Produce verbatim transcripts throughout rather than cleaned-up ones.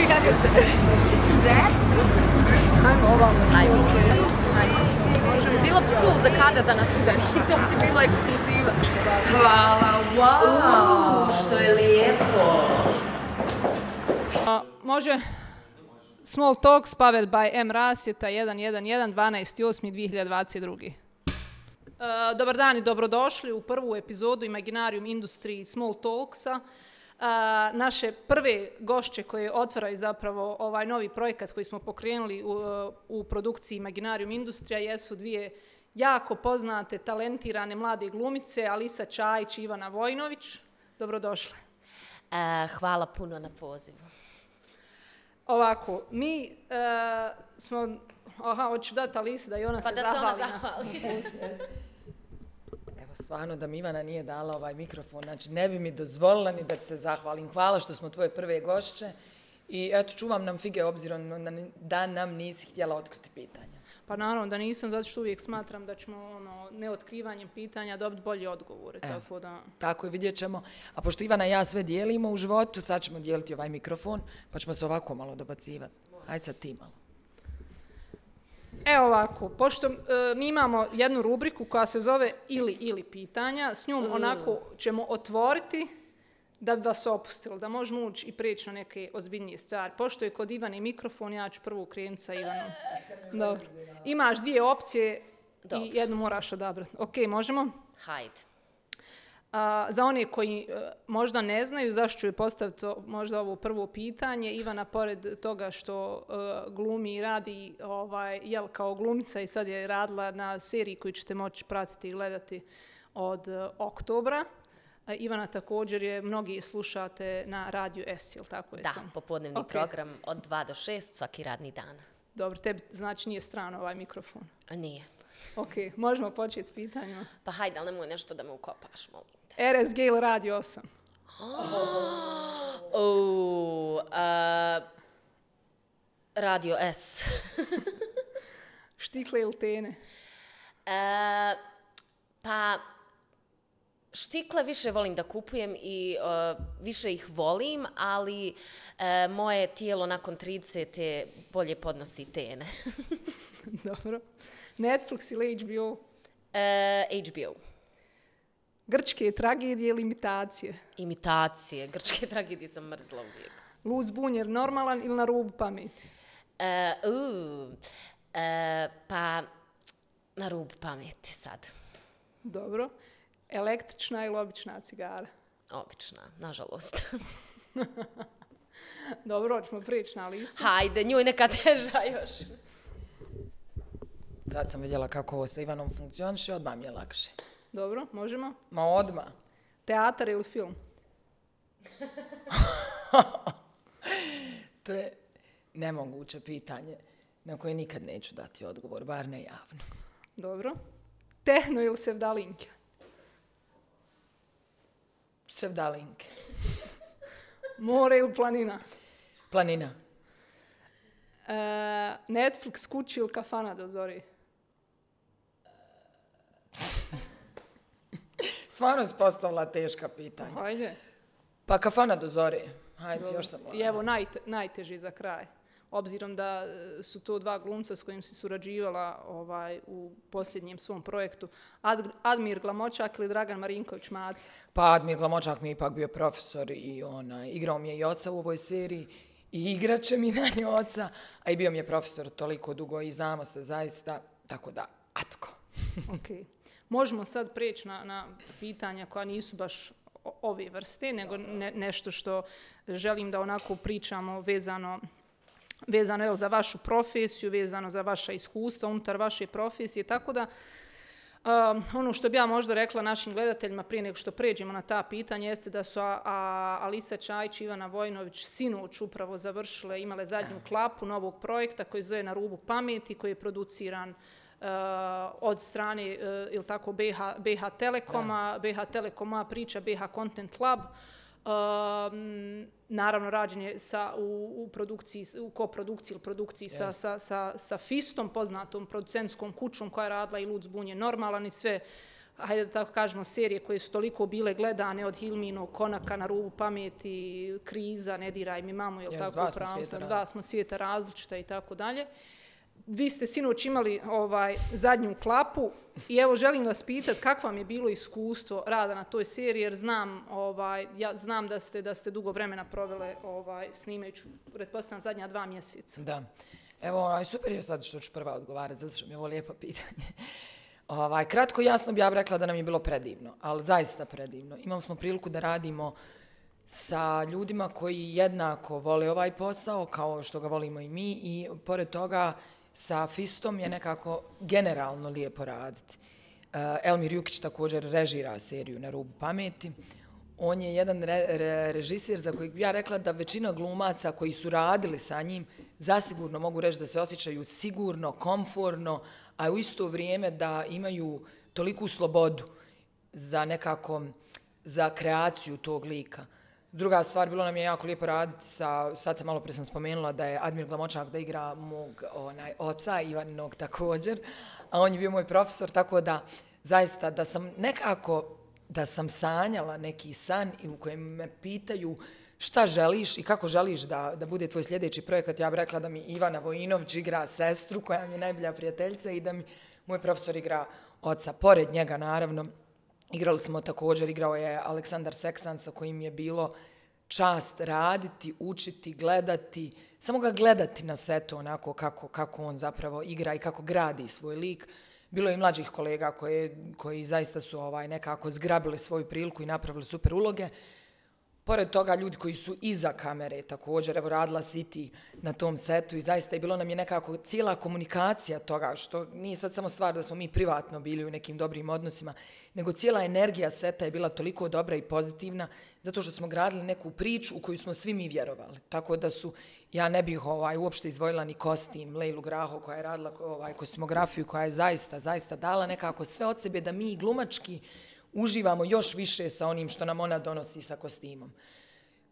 Jet? Ajmo ovamo. Ajmo. Bilo bi cool za kada da nas udari. To bi bilo ekskluziva. Hvala, wow, što je lijepo. Može Small Talks powered by M. Rasvjeta jedan jedan jedan dvanaesti osmi dvije hiljade dvadeset druge. Uh, dobar dan i dobrodošli u prvu epizodu Imaginarium Industry Small Talksa. Uh, naše prve gošće koje otvaraju zapravo ovaj novi projekat koji smo pokrenuli u, u produkciji Imaginarium Industrija jesu dvije jako poznate, talentirane mlade glumice, Alisa Čajić i Ivana Vojnović. Dobrodošle. Uh, hvala puno na pozivu. Ovako, mi uh, smo... Aha, hoću dati Alisi da i ona pa se da zahvali. Pa da se ona zahvali. Evo, stvarno da mi Ivana nije dala ovaj mikrofon, znači ne bi mi dozvolila ni da se zahvalim. Hvala što smo tvoje prve gošće i eto, čuvam nam fige obzirom da nam nisi htjela otkriti pitanja. Pa naravno da nisam, zato što uvijek smatram da ćemo ono, neotkrivanjem pitanja dobiti bolje odgovore. Evo, tako da... Tako je, vidjet ćemo. A pošto Ivana i ja sve dijelimo u životu, sad ćemo dijeliti ovaj mikrofon, pa ćemo se ovako malo dobacivati. Ajde sad ti malo. Evo ovako, pošto e, mi imamo jednu rubriku koja se zove ili ili pitanja, s njom mm. onako ćemo otvoriti da bi vas opustili, da možemo ući i prijeći na neke ozbiljnije stvari. Pošto je kod Ivane mikrofon, ja ću prvu krenuti sa Ivanom. Dobro. Imaš dvije opcije Dobro. i jednu moraš odabrati. Ok, možemo? Hajde. Uh, za one koji uh, možda ne znaju zašto ću je postaviti možda ovo prvo pitanje, Ivana pored toga što uh, glumi i radi ovaj, jel, kao glumica i sad je radila na seriji koju ćete moći pratiti i gledati od uh, oktobra. Uh, Ivana također je, mnogi slušate na radiju S, jel tako je Da, sam? popodnevni okay. program od dva do šest svaki radni dan. Dobro, tebi znači nije strano ovaj mikrofon? Nije. Ok, možemo početi s pitanjima. Pa hajde, ali nemoj nešto da me ukopaš, molim te. R S G ili Radio osam? Oh, uh, Radio S. Štikle ili tene? Uh, pa, štikle više volim da kupujem i uh, više ih volim, ali uh, moje tijelo nakon tridesete bolje podnosi tene. Dobro. Netflix ili H B O? Uh, H B O. Grčke tragedije ili imitacije? Imitacije. Grčke tragedije sam mrzla uvijek. Lud zbunjer normalan ili na rubu pameti? Uh, uh, uh, pa, na rubu pameti sad. Dobro. Električna ili obična cigara? Obična, nažalost. Dobro, hoćemo prijeći na Alisu. Hajde, njoj neka teža još. Sad sam vidjela kako ovo sa Ivanom funkcioniše, odmah mi je lakše. Dobro, možemo? Ma odmah. Teatar ili film? To je nemoguće pitanje na koje nikad neću dati odgovor, bar ne javno. Dobro. Tehno ili sevdalinke? Sevdalinke. More ili planina? Planina. E, Netflix, kući ili kafana do zori? Stvarno si postavila teška pitanja. Hajde. Pa kafana do zori. Hajde, Dobro. još sam mlada. I evo najte, najteži za kraj. Obzirom da su to dva glumca s kojim si surađivala ovaj, u posljednjem svom projektu. Ad, Admir Glamočak ili Dragan Marinković Maca? Pa Admir Glamočak mi je ipak bio profesor i onaj, igrao mi je i oca u ovoj seriji i igrat će mi na nju oca, a i bio mi je profesor toliko dugo i znamo se zaista, tako da, atko. Okay. Možemo sad prijeći na, na pitanja koja nisu baš ove vrste, nego ne, nešto što želim da onako pričamo vezano, vezano je za vašu profesiju, vezano za vaša iskustva unutar vaše profesije, tako da Um, ono što bi ja možda rekla našim gledateljima prije nego što pređemo na ta pitanja jeste da su a, a, Alisa Čajić i Ivana Vojnović sinoć upravo završile, imale zadnju klapu novog projekta koji zove Na rubu pameti, koji je produciran uh, od strane uh, ili tako B H, B H Telekoma, B H Telekoma priča B H Content Lab. Um, naravno rađen je sa, u, u, produkciji, u koprodukciji ili produkciji yes. sa, sa, sa, sa Fistom, poznatom producentskom kućom koja je radila i Lud zbunjen normalan i sve uh, hajde da tako kažemo, serije koje su toliko bile gledane od Hilminog Konaka, Na rubu pameti, Kriza, Ne diraj mi mamu, jel tako upravo sam, dva smo svijeta različita i tako dalje. Vi ste sinoć imali ovaj, zadnju klapu i evo želim vas pitati kako vam je bilo iskustvo rada na toj seriji, jer znam, ovaj, ja znam da ste, da ste dugo vremena provele ovaj, snimajući, pretpostavljam, zadnja dva mjeseca. Da. Evo, ovaj, super je sad što ću prva odgovarati, zato što mi je ovo lijepo pitanje. Ovaj, kratko i jasno bi ja rekla da nam je bilo predivno, ali zaista predivno. Imali smo priliku da radimo sa ljudima koji jednako vole ovaj posao, kao što ga volimo i mi, i pored toga sa Fistom je nekako generalno lijepo raditi. Uh, Elmir Jukić također režira seriju Na rubu pameti. On je jedan re, re, režisir za kojeg bi ja rekla da većina glumaca koji su radili sa njim zasigurno mogu reći da se osjećaju sigurno, komforno, a u isto vrijeme da imaju toliku slobodu za nekako, za kreaciju tog lika. Druga stvar, bilo nam je jako lijepo raditi sa, sad sam malo prije sam spomenula da je Admir Glamočak da igra mog onaj, oca, Ivaninog također, a on je bio moj profesor, tako da zaista da sam nekako, da sam sanjala neki san i u kojem me pitaju šta želiš i kako želiš da, da bude tvoj sljedeći projekat, ja bih rekla da mi Ivana Vojinović igra sestru koja mi je najbolja prijateljica i da mi moj profesor igra oca. Pored njega, naravno, igrali smo također, igrao je Aleksandar Seksan sa kojim je bilo čast raditi, učiti, gledati, samo ga gledati na setu onako kako, kako on zapravo igra i kako gradi svoj lik. Bilo je i mlađih kolega koje, koji zaista su ovaj, nekako zgrabili svoju priliku i napravili super uloge. Pored toga, ljudi koji su iza kamere također, evo radila si ti na tom setu i zaista je bilo nam je nekako cijela komunikacija toga, što nije sad samo stvar da smo mi privatno bili u nekim dobrim odnosima, nego cijela energija seta je bila toliko dobra i pozitivna, zato što smo gradili neku priču u koju smo svi mi vjerovali. Tako da su, ja ne bih ovaj, uopšte izdvojila ni kostim, Lejlu Graho koja je radila ovaj, kostimografiju, koja je zaista, zaista dala nekako sve od sebe da mi glumački uživamo još više sa onim što nam ona donosi sa kostimom.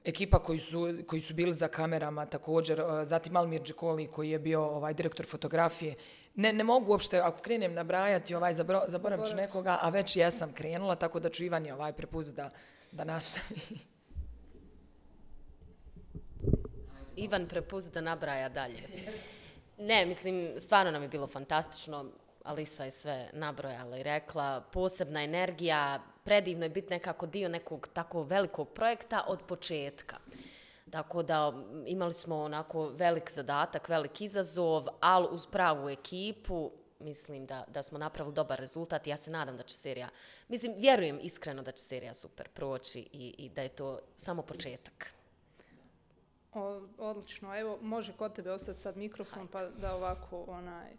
Ekipa koji su, koji su bili za kamerama također, zatim Almir Džekoli koji je bio ovaj, direktor fotografije. Ne, ne mogu uopšte, ako krenem nabrajati, ovaj, zaboravit ću nekoga, a već jesam krenula, tako da ću Ivani ovaj, prepustiti da, da nastavi. Ivan prepust da nabraja dalje. Ne, mislim, stvarno nam je bilo fantastično. Alisa je sve nabrojala i rekla, posebna energija, predivno je biti nekako dio nekog tako velikog projekta od početka. Tako da imali smo onako velik zadatak, velik izazov, ali uz pravu ekipu mislim da, da smo napravili dobar rezultat i ja se nadam da će serija, mislim, vjerujem iskreno da će serija super proći i, i da je to samo početak. O, odlično, evo može kod tebe ostati sad mikrofon pa da ovako onaj...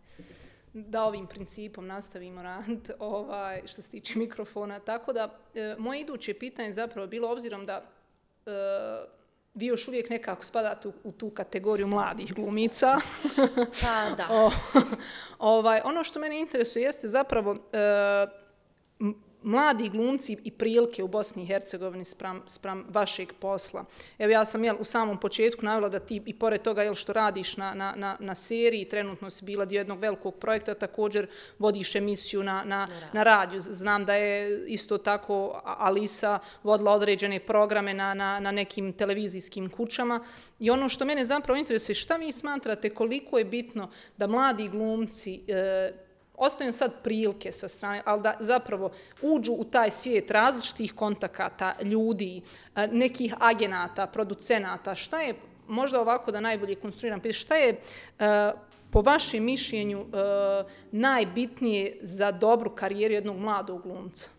da ovim principom nastavimo raditi ovaj, što se tiče mikrofona. Tako da, e, moje iduće pitanje zapravo bilo, obzirom da e, vi još uvijek nekako spadate u, u tu kategoriju mladih glumica. Pa da. o, ovaj, ono što mene interesuje jeste zapravo e, mladi glumci i prilike u Bosni i Hercegovini spram, spram vašeg posla. Evo ja sam jel, u samom početku navela da ti i pored toga jel, što radiš na, na, na, na seriji, trenutno si bila dio jednog velikog projekta, također vodiš emisiju na, na, na radiju. Znam da je isto tako Alisa vodila određene programe na, na, na nekim televizijskim kućama. I ono što mene zapravo interesuje, šta vi smatrate koliko je bitno da mladi glumci e, ostavim sad prilike sa strane, ali da zapravo uđu u taj svijet različitih kontakata, ljudi, nekih agenata, producenata. Šta je, možda ovako da najbolje konstruiram, šta je po vašem mišljenju najbitnije za dobru karijeru jednog mladog glumca?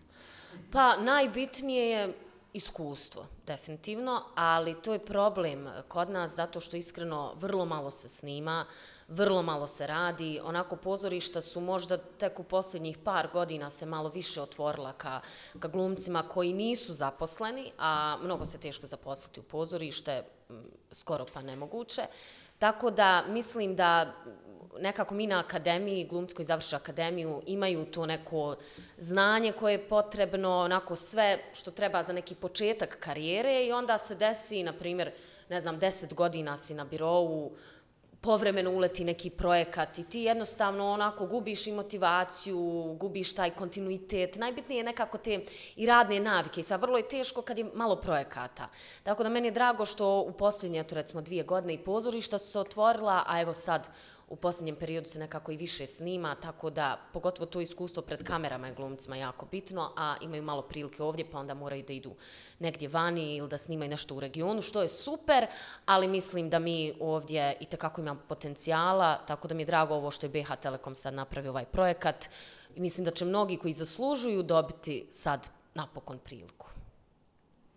Pa najbitnije je iskustvo, definitivno, ali to je problem kod nas zato što iskreno vrlo malo se snima, vrlo malo se radi, onako pozorišta su možda tek u posljednjih par godina se malo više otvorila ka, ka glumcima koji nisu zaposleni, a mnogo se teško zaposliti u pozorište, skoro pa nemoguće. Tako da mislim da nekako mi na akademiji, glumci koji završe akademiju, imaju to neko znanje koje je potrebno, onako sve što treba za neki početak karijere i onda se desi, na primjer, ne znam, deset godina si na birovu, povremeno uleti neki projekat i ti jednostavno onako gubiš i motivaciju, gubiš taj kontinuitet. Najbitnije je nekako te i radne navike i sve. Vrlo je teško kad je malo projekata. Tako da meni je drago što u posljednje, eto recimo dvije godine i pozorišta su se otvorila, a evo sad u posljednjem periodu se nekako i više snima, tako da pogotovo to iskustvo pred kamerama je glumcima jako bitno, a imaju malo prilike ovdje, pa onda moraju da idu negdje vani ili da snimaju nešto u regionu, što je super, ali mislim da mi ovdje itekako imamo potencijala, tako da mi je drago ovo što je B H Telekom sad napravio ovaj projekat i mislim da će mnogi koji zaslužuju dobiti sad napokon priliku.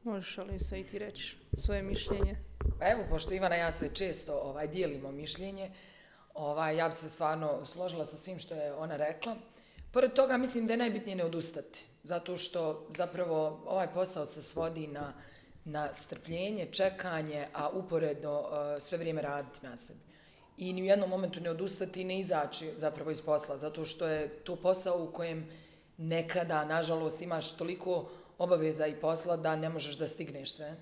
Možeš li se i ti reći svoje mišljenje? Pa evo, pošto Ivana ja se često ovaj, dijelimo mišljenje, Ovaj, ja bi se stvarno složila sa svim što je ona rekla. Pored toga mislim da je najbitnije ne odustati, zato što zapravo ovaj posao se svodi na, na strpljenje, čekanje, a uporedno uh, sve vrijeme raditi na sebi. I ni u jednom momentu ne odustati i ne izaći zapravo iz posla, zato što je to posao u kojem nekada, nažalost, imaš toliko obaveza i posla da ne možeš da stigneš sve,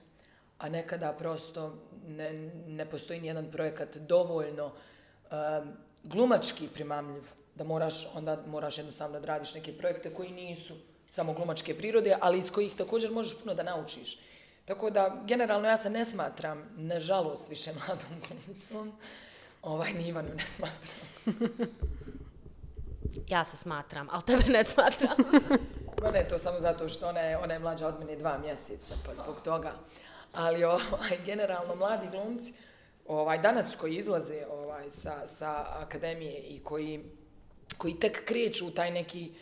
a nekada prosto ne, ne postoji nijedan projekat dovoljno Um, glumački primamljiv, da moraš, onda moraš jednostavno da radiš neke projekte koji nisu samo glumačke prirode, ali iz kojih također možeš puno da naučiš. Tako da, generalno ja se ne smatram, nažalost, više mladom glumicom. Ovaj, ni Ivanu ne smatram. Ja se smatram, ali tebe ne smatram. No ne, to samo zato što ona je, ona je mlađa od mene dva mjeseca, pa zbog toga. Ali ovaj, generalno, mladi glumci, Ovaj, danas koji izlaze ovaj, sa, sa akademije i koji, koji tek kreću u taj neki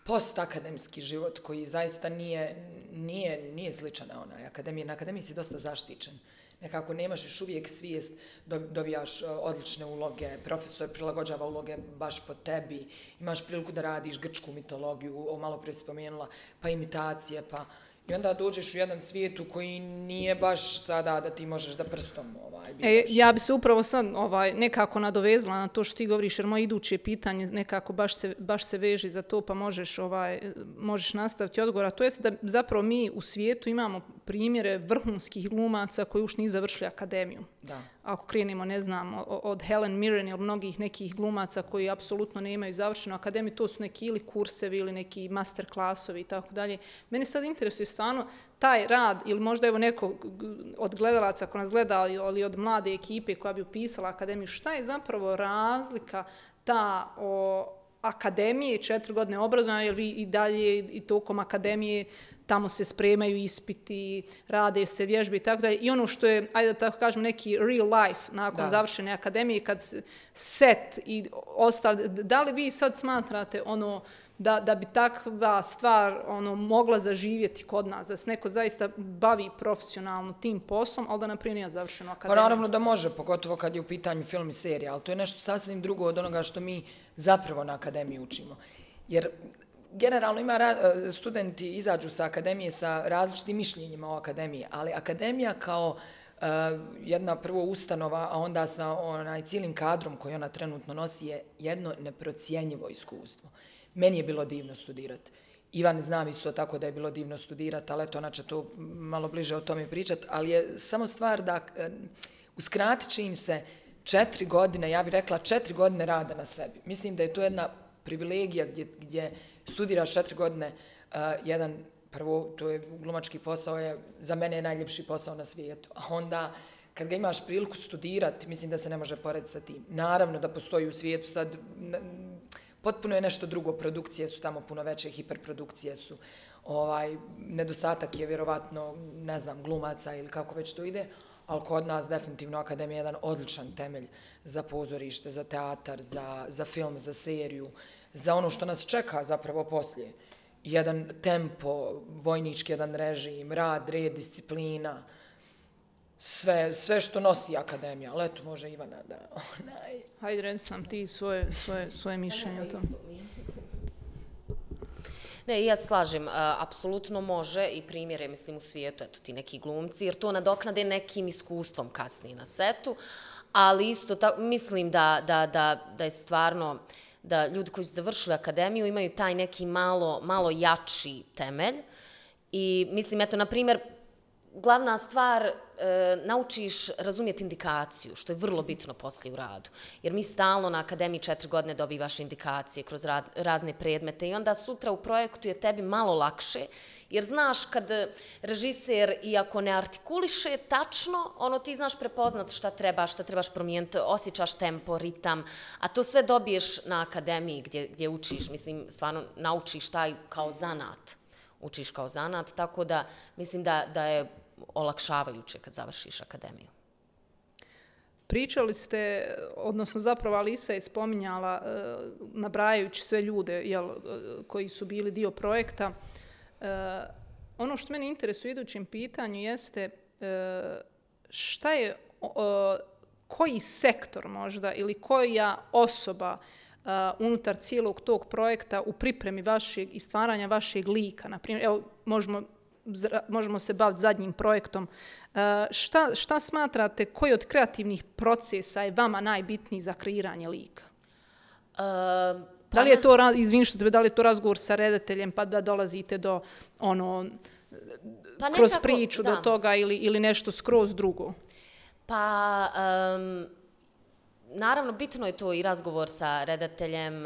postakademski život koji zaista nije, nije, nije sličan na onaj akademije. Na akademiji si dosta zaštićen. Nekako nemaš još uvijek svijest, dobijaš odlične uloge, profesor prilagođava uloge baš po tebi, imaš priliku da radiš grčku mitologiju, malo prije si spomenula, pa imitacije, pa... I onda dođeš u jedan svijet u koji nije baš sada da ti možeš da prstom ovaj, e, ja bi se upravo sad ovaj, nekako nadovezala na to što ti govoriš, jer moje iduće pitanje nekako baš se, baš se veži za to, pa možeš, ovaj, možeš nastaviti odgovor. A to je da zapravo mi u svijetu imamo primjere vrhunskih glumaca koji još nisu završili akademiju. Da. Ako krenemo, ne znam, od Helen Mirren ili mnogih nekih glumaca koji apsolutno ne imaju završenu akademiju, to su neki ili kursevi ili neki master klasovi i tako dalje. Mene sad interesuje stvarno taj rad, ili možda evo neko od gledalaca ko nas gleda, ali od mlade ekipe koja bi upisala akademiju, šta je zapravo razlika ta o akademije, četiri godine obrazovanja, jer vi i dalje i tokom akademije tamo se spremaju ispiti, rade se vježbe i tako dalje. I ono što je, ajde da tako kažem, neki real life nakon da. završene akademije, kad set i ostali, da li vi sad smatrate ono da, da bi takva stvar ono, mogla zaživjeti kod nas, da se neko zaista bavi profesionalno tim poslom, ali da naprijed nije završeno akademiju? Pa naravno da može, pogotovo kad je u pitanju film i serija, ali to je nešto sasvim drugo od onoga što mi zapravo na akademiji učimo. Jer generalno ima studenti izađu sa akademije sa različitim mišljenjima o akademiji, ali akademija kao uh, jedna prvo ustanova, a onda sa onaj cijelim kadrom koji ona trenutno nosi je jedno neprocjenjivo iskustvo. Meni je bilo divno studirati. Ivan znam isto tako da je bilo divno studirati, ali eto, ona će to malo bliže o tome pričati, ali je samo stvar da uh, uskratit će im se četiri godine, ja bih rekla četiri godine rada na sebi. Mislim da je to jedna privilegija gdje, gdje studiraš četiri godine, uh, jedan, prvo, to je glumački posao, je za mene je najljepši posao na svijetu, a onda kad ga imaš priliku studirati, mislim da se ne može porediti sa tim. Naravno da postoji u svijetu sad, potpuno je nešto drugo, produkcije su tamo puno veće, hiperprodukcije su, ovaj, nedostatak je vjerovatno, ne znam, glumaca ili kako već to ide, ali kod nas definitivno akademija je jedan odličan temelj za pozorište, za teatar, za, za film, za seriju, za ono što nas čeka zapravo poslije. Jedan tempo, vojnički jedan režim, rad, red, disciplina, sve, sve što nosi akademija. Ali eto, može Ivana da... Onaj... Hajde, reci nam ti svoje, svoje, svoje mišljenje o tom. Ne, ja slažem, apsolutno može i primjere, mislim, u svijetu, eto ti neki glumci, jer to nadoknade nekim iskustvom kasnije na setu, ali isto tako, mislim da, da, da, da je stvarno, da ljudi koji su završili akademiju imaju taj neki malo, malo jači temelj i mislim, eto, na primjer, glavna stvar, e, naučiš razumjeti indikaciju, što je vrlo bitno poslije u radu. Jer mi stalno na akademiji četiri godine dobivaš indikacije kroz ra, razne predmete i onda sutra u projektu je tebi malo lakše, jer znaš kad režiser, iako ne artikuliše tačno, ono ti znaš prepoznat šta treba, šta trebaš promijeniti, osjećaš tempo, ritam, a to sve dobiješ na akademiji gdje, gdje učiš, mislim, stvarno naučiš taj kao zanat. Učiš kao zanat, tako da mislim da, da je olakšavajuće kad završiš akademiju. Pričali ste, odnosno zapravo Alisa je spominjala, nabrajajući sve ljude jel, koji su bili dio projekta. Ono što mene interesuje u idućem pitanju jeste šta je, koji sektor možda ili koja osoba Uh, unutar cijelog tog projekta u pripremi vašeg i stvaranja vašeg lika. Naprimjer, evo, možemo, možemo se baviti zadnjim projektom. Uh, šta, šta smatrate, koji od kreativnih procesa je vama najbitniji za kreiranje lika? Uh, pa da li je to, izvini što tebe, da li je to razgovor sa redateljem pa da dolazite do ono, pa kroz nekako, priču da. do toga ili, ili nešto skroz drugo? Pa... Um... Naravno, bitno je to i razgovor sa redateljem,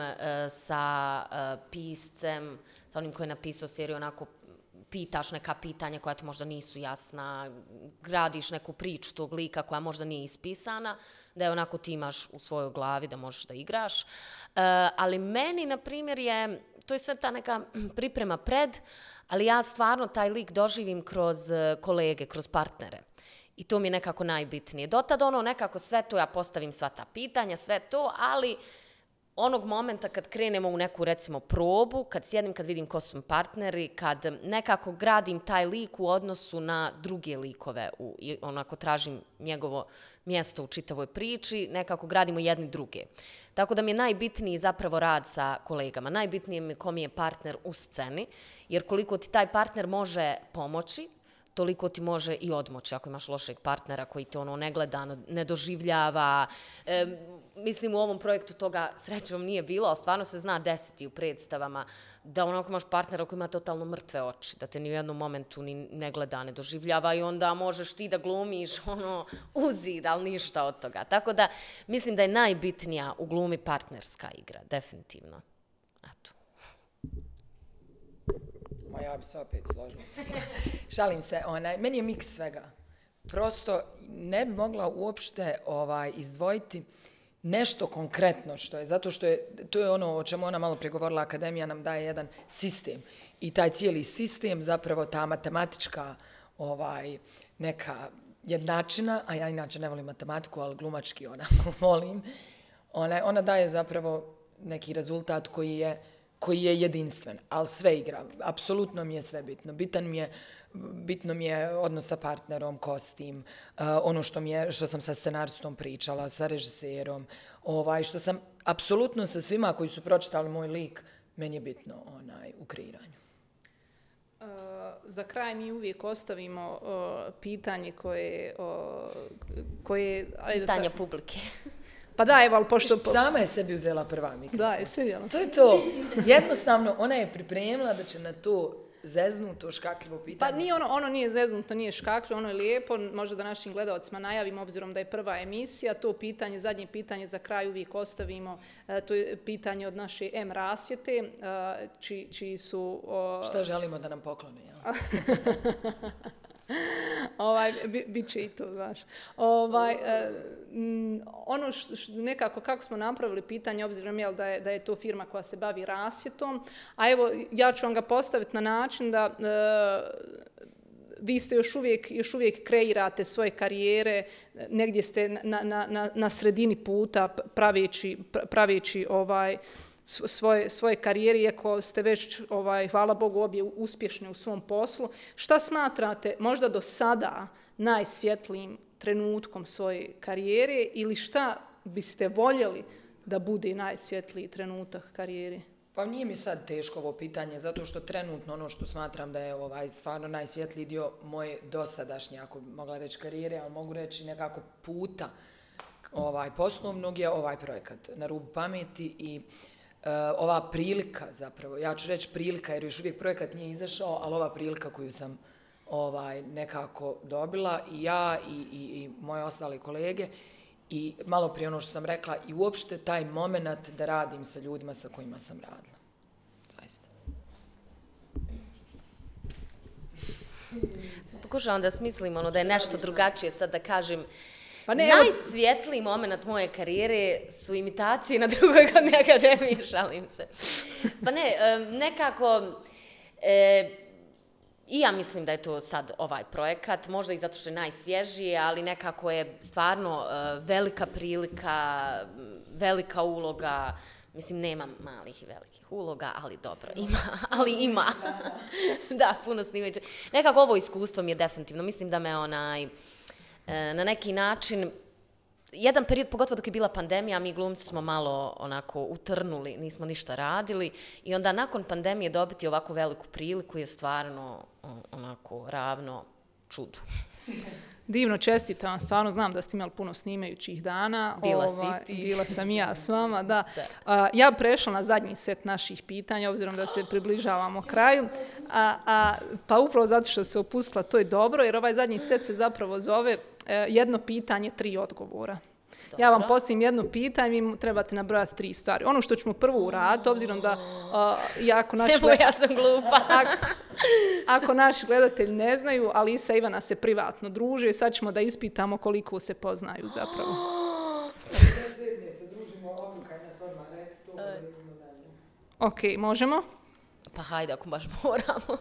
sa piscem, sa onim koji je napisao seriju, onako pitaš neka pitanja koja ti možda nisu jasna, gradiš neku priču tog lika koja možda nije ispisana, da je onako ti imaš u svojoj glavi da možeš da igraš. Ali meni, na primjer, je, to je sve ta neka priprema pred, ali ja stvarno taj lik doživim kroz kolege, kroz partnere. I to mi je nekako najbitnije. Dotad ono nekako sve to, ja postavim sva ta pitanja, sve to, ali onog momenta kad krenemo u neku recimo probu, kad sjedim, kad vidim ko su mi partneri, kad nekako gradim taj lik u odnosu na druge likove u, i onako tražim njegovo mjesto u čitavoj priči, nekako gradimo jedni druge. Tako da mi je najbitniji zapravo rad sa kolegama. Najbitnije mi je ko mi je partner u sceni, jer koliko ti taj partner može pomoći, toliko ti može i odmoći ako imaš lošeg partnera koji te ono ne gleda, ne doživljava. E, mislim, u ovom projektu toga srećom nije bilo, ali stvarno se zna desiti u predstavama da onako imaš partnera koji ima totalno mrtve oči, da te ni u jednom momentu ni ne gleda, ne doživljava i onda možeš ti da glumiš ono, u zid, ali ništa od toga. Tako da mislim da je najbitnija u glumi partnerska igra, definitivno. Eto. Ma ja bi se opet složila se. Šalim se, onaj, meni je miks svega. Prosto ne bi mogla uopšte ovaj, izdvojiti nešto konkretno što je, zato što je, to je ono o čemu ona malo pregovorila, akademija nam daje jedan sistem i taj cijeli sistem, zapravo ta matematička ovaj, neka jednačina, a ja inače ne volim matematiku, ali glumački ona volim, ona, ona daje zapravo neki rezultat koji je koji je jedinstven, ali sve igra. Apsolutno mi je sve bitno. Bitan mi je, bitno mi je odnos sa partnerom, kostim, uh, ono što, mi je, što sam sa scenaristom pričala, sa režiserom, ovaj, što sam apsolutno sa svima koji su pročitali moj lik, meni je bitno onaj, u kreiranju. Uh, za kraj mi uvijek ostavimo uh, pitanje koje... Uh, koje pitanje ta... publike. Pa da, evo, ali pošto... Sama je sebi uzela prva mikrofon. Da, je svidjela. To je to. Jednostavno, ona je pripremila da će na to zeznuto, škakljivo pitanje. Pa nije ono, ono nije zeznuto, nije škakljivo, ono je lijepo. Možda da našim gledalcima najavimo, obzirom da je prva emisija, to pitanje, zadnje pitanje za kraj uvijek ostavimo. E, to je pitanje od naše M rasvjete, e, čiji, čiji su... O... Šta želimo da nam poklone, jel? ovaj, bi, bit će i to, znaš. Ovaj, eh, ono što, što nekako, kako smo napravili pitanje, obzirom jel, da, je, da je to firma koja se bavi rasvjetom, a evo, ja ću vam ga postaviti na način da eh, vi ste još uvijek, još uvijek kreirate svoje karijere, negdje ste na, na, na, na sredini puta praveći, praveći ovaj, svoje, svoje karijere, iako ste već, ovaj, hvala Bogu, obje uspješni u svom poslu. Šta smatrate možda do sada najsvjetlijim trenutkom svoje karijere ili šta biste voljeli da bude najsvjetliji trenutak karijere? Pa nije mi sad teško ovo pitanje, zato što trenutno ono što smatram da je ovaj stvarno najsvjetliji dio moje dosadašnje, ako bi mogla reći karijere, ali mogu reći nekako puta ovaj, poslovnog je ovaj projekat Na rubu pameti i Uh, ova prilika zapravo, ja ću reći prilika jer još uvijek projekat nije izašao, ali ova prilika koju sam ovaj, nekako dobila i ja i, i, i moje ostale kolege. I malo prije ono što sam rekla, i uopšte taj moment da radim sa ljudima sa kojima sam radila. Zaista. Pokušavam da smislim ono da je nešto drugačije sad da kažem. Pa ne, najsvjetliji moment moje karijere su imitacije na drugoj godini akademije, šalim se. Pa ne, nekako, e, i ja mislim da je to sad ovaj projekat, možda i zato što je najsvježiji, ali nekako je stvarno uh, velika prilika, velika uloga. Mislim, nema malih i velikih uloga, ali dobro, ima, ali ima. Da, puno snimajuće. Nekako ovo iskustvo mi je definitivno, mislim da me onaj, na neki način, jedan period, pogotovo dok je bila pandemija, mi glumci smo malo onako utrnuli, nismo ništa radili i onda nakon pandemije dobiti ovako veliku priliku je stvarno onako ravno čudu. Divno, čestitam, stvarno znam da ste imali puno snimajućih dana. Bila Ova, si ti. Bila sam i ja s vama, da. Da. A, ja prešla na zadnji set naših pitanja, obzirom da se približavamo kraju. A, a, pa upravo zato što se opustila, to je dobro, jer ovaj zadnji set se zapravo zove e, jedno pitanje, tri odgovora. Dobro. Ja vam postavim jedno pitanje, vi trebate nabrojati tri stvari. Ono što ćemo prvo uraditi, obzirom da uh, jako naši... Evo, ja sam glupa. ako, ako naši gledatelji ne znaju, Alisa i Ivana se privatno druže i sad ćemo da ispitamo koliko se poznaju zapravo. Ok, možemo? Pa hajde, ako baš moramo.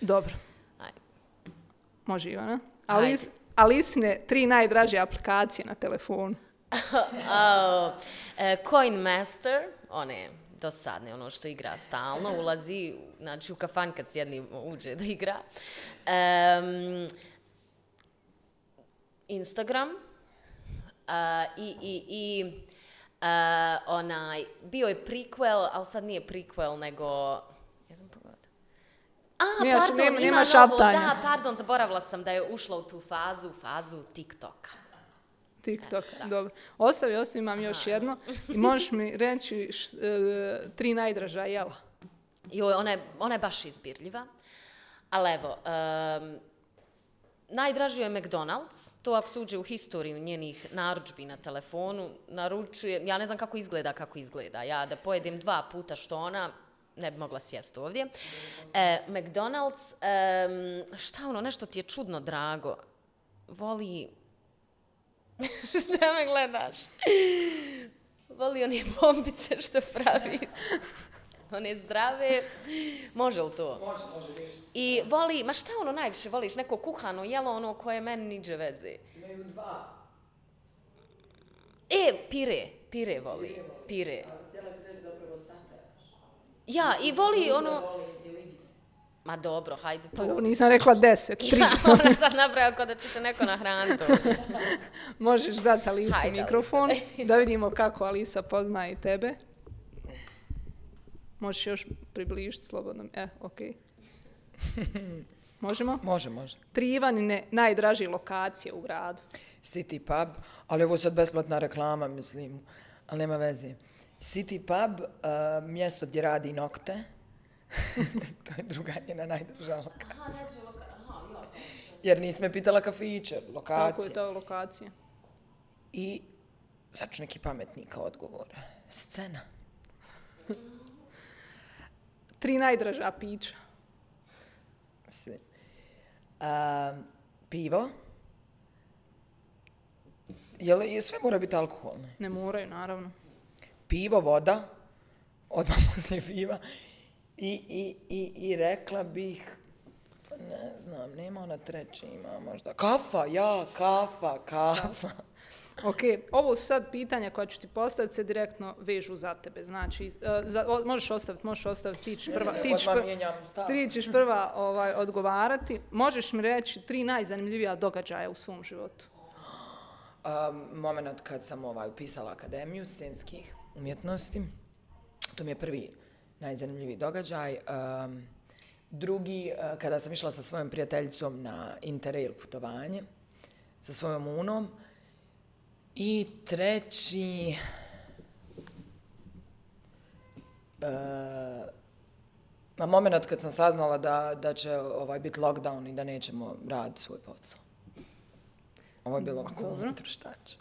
Dobro. Hajde. Može, Ivana. Alis, Alisine tri najdraže aplikacije na telefonu. oh, uh, Coin Master, one dosadne, ono što igra stalno, ulazi, znači u kafan kad sjedni uđe da igra. Um, Instagram uh, i, i, i uh, onaj, bio je prequel, ali sad nije prequel, nego... Ja sam pogledala. A, Nemaš, pardon, nema, ima nema novo, šaptanja. da, pardon, zaboravila sam da je ušla u tu fazu, fazu TikToka. TikTok, dobro. Ostavi, ostavi, imam još jedno. I možeš mi reći š, e, tri najdraža jela. Joj, ona je, ona je baš izbirljiva. Ali evo, um, najdraži je McDonald's. To ako se uđe u historiju njenih narudžbi na telefonu, naručuje, ja ne znam kako izgleda, kako izgleda. Ja da pojedem dva puta što ona, ne bi mogla sjesti ovdje. E, McDonald's, um, šta ono, nešto ti je čudno drago. Voli... Šta me gledaš? Voli one bombice što pravi. One zdrave. Može li to? Može, može. I voli, ma šta ono najviše voliš? Neko kuhano jelo, ono koje meni niđe veze. Imaju dva. E, pire. Pire voli. Pire. Htjela si reći zapravo sataraš. Ja, i voli ono... Voli i lignje. Ma dobro, hajde Pa, tu. nisam rekla deset, tri. Ja, ona sad nabraja kao da ćete neko nahraniti. Možeš dati Alisi Hajde, mikrofon, Alisa. da vidimo kako Alisa poznaje tebe. Možeš još približiti slobodno. E, ok. Možemo? Može, može. Tri Ivanine najdraže lokacije u gradu. City Pub, ali ovo je sad besplatna reklama, mislim, ali nema veze. City Pub, uh, mjesto gdje radi nokte. To je druga njena najdrža lokacija. Jer nisi me pitala kafiće, lokacije. Tako je to lokacija. I sad ću neki pametni kao odgovor. Scena. Tri najdraža pića. Mislim. Um, pivo. Jel, je sve mora biti alkoholno? Ne moraju, naravno. Pivo, voda, odmah poslije piva. I, i, i, i rekla bih, ne znam, nema ona treći, ima možda. Kafa, ja, kafa, kafa. Ok, ovo su sad pitanja koja ću ti postaviti se direktno vežu za tebe. Znači, uh, za, o, možeš ostaviti, možeš ostaviti, ti ćeš prva, Ne, ne, ti ćeš odmah prva, mijenjam stav. ti ćeš prva ovaj, odgovarati. Možeš mi reći tri najzanimljivija događaja u svom životu? Um, moment kad sam ovaj, upisala Akademiju scenskih umjetnosti, to mi je prvi najzanimljiviji događaj. Um, drugi, uh, kada sam išla sa svojom prijateljicom na Interrail putovanje, sa svojom unom. I treći, uh, Na moment kad sam saznala da, da će ovaj, biti lockdown i da nećemo raditi svoj posao. Ovo je bilo ovako unutar šta ću.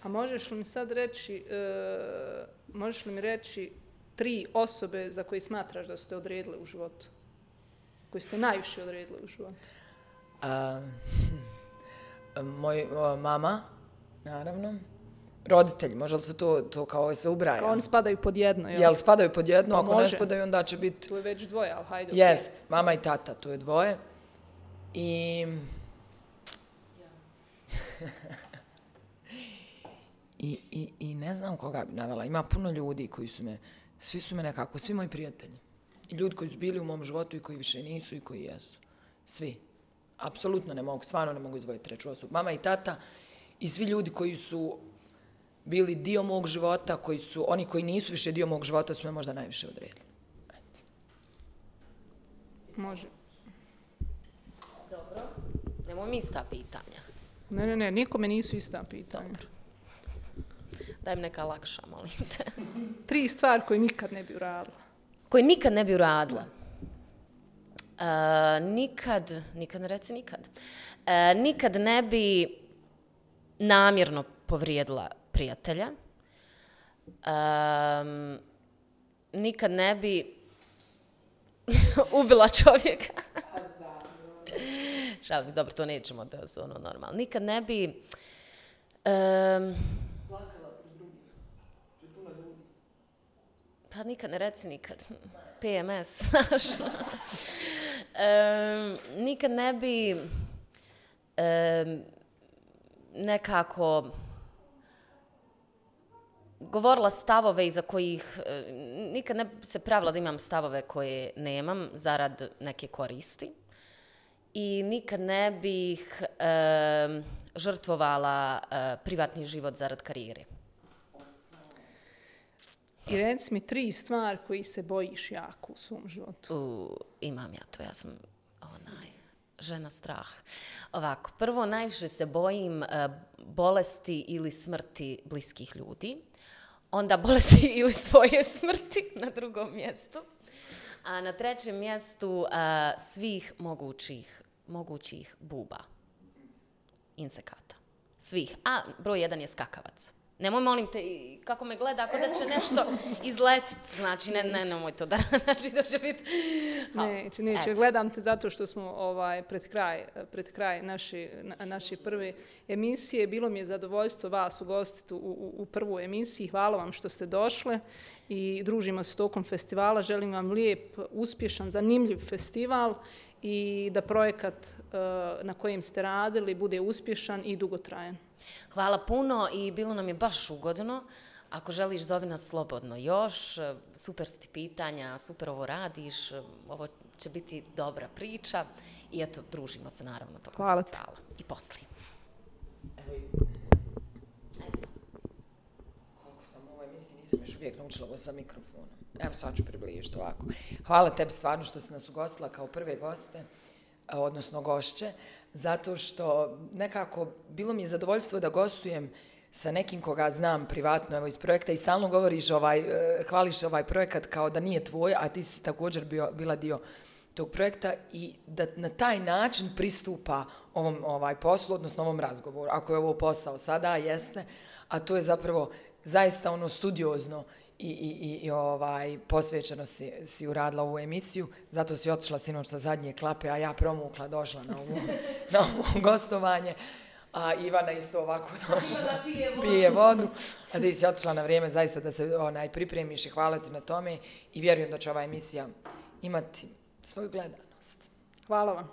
A možeš li mi sad reći, e, možeš li mi reći tri osobe za koje smatraš da ste odredile u životu? Koji ste najviše odredili u životu? A, moj o, mama, naravno. Roditelji, može li se to, to kao se ubraja? Kao oni spadaju pod jedno, jel? Jel spadaju pod jedno? Pa ako može. ne spadaju, onda će biti... Tu je već dvoje, ali hajde. Jest, mama i tata, tu je dvoje. I... I, i, I ne znam koga bi navela. Ima puno ljudi koji su me, svi su me nekako, svi moji prijatelji. I ljudi koji su bili u mom životu i koji više nisu i koji jesu. Svi. Apsolutno ne mogu, stvarno ne mogu izvojiti treću osobu. Mama i tata i svi ljudi koji su bili dio mog života, koji su, oni koji nisu više dio mog života su me možda najviše odredili. Ajde. Može. Dobro. Nemo mi ista pitanja. Ne, ne, ne, nikome nisu ista pitanja. Dobro. Daj mi neka lakša, molim te. Tri stvari koje nikad ne bi uradila. Koje nikad ne bi uradila. Uh, nikad, nikad ne reci nikad. Uh, nikad ne bi namjerno povrijedila prijatelja. Um, nikad ne bi ubila čovjeka. Šalim, dobro, to nećemo, to su ono normalno. Nikad ne bi... Um, pa nikad ne reci nikad. P M S, znaš. um, nikad ne bi um, nekako govorila stavove iza kojih, nikad ne bi se pravila da imam stavove koje nemam zarad neke koristi. I nikad ne bih um, žrtvovala uh, privatni život zarad karijere. I reci mi tri stvari koji se bojiš jako u svom životu. U, imam ja to, ja sam onaj, žena strah. Ovako, prvo najviše se bojim uh, bolesti ili smrti bliskih ljudi. Onda bolesti ili svoje smrti na drugom mjestu. A na trećem mjestu uh, svih mogućih, mogućih buba. Insekata. Svih. A broj jedan je skakavac. Nemoj, molim te, kako me gleda, ako da će nešto izletiti, znači, ne, ne, nemoj to da, znači, da će biti haos. Neće, neće, gledam te zato što smo ovaj, pred kraj, pred kraj naše, naše prve emisije. Bilo mi je zadovoljstvo vas ugostiti u, u, u prvu emisiji. Hvala vam što ste došle i družimo se tokom festivala. Želim vam lijep, uspješan, zanimljiv festival i da projekat uh, na kojem ste radili bude uspješan i dugotrajan. Hvala puno i bilo nam je baš ugodno. Ako želiš, zovi nas slobodno još. Super su ti pitanja, super ovo radiš. Ovo će biti dobra priča. I eto, družimo se naravno tokom Hvala festivala. I poslije. Koliko sam u ovoj emisiji, nisam još uvijek naučila ovo sa mikrofonom. Evo sad ću približiti ovako. Hvala tebi stvarno što si nas ugostila kao prve goste, odnosno gošće, zato što nekako bilo mi je zadovoljstvo da gostujem sa nekim koga znam privatno, evo iz projekta i stalno govoriš, ovaj, hvališ ovaj projekat kao da nije tvoj, a ti si također bio, bila dio tog projekta i da na taj način pristupa ovom ovaj, poslu, odnosno ovom razgovoru. Ako je ovo posao sada, jeste, a to je zapravo zaista ono studiozno i, i, i ovaj, posvećeno si, si uradila ovu emisiju, zato si otišla sinoć sa zadnje klape, a ja promukla došla na ovo, na ovo gostovanje, a Ivana isto ovako došla, pije vodu. pije vodu, a ti si otišla na vrijeme zaista da se onaj, pripremiš i hvala ti na tome i vjerujem da će ova emisija imati svoju gledanost. Hvala vam.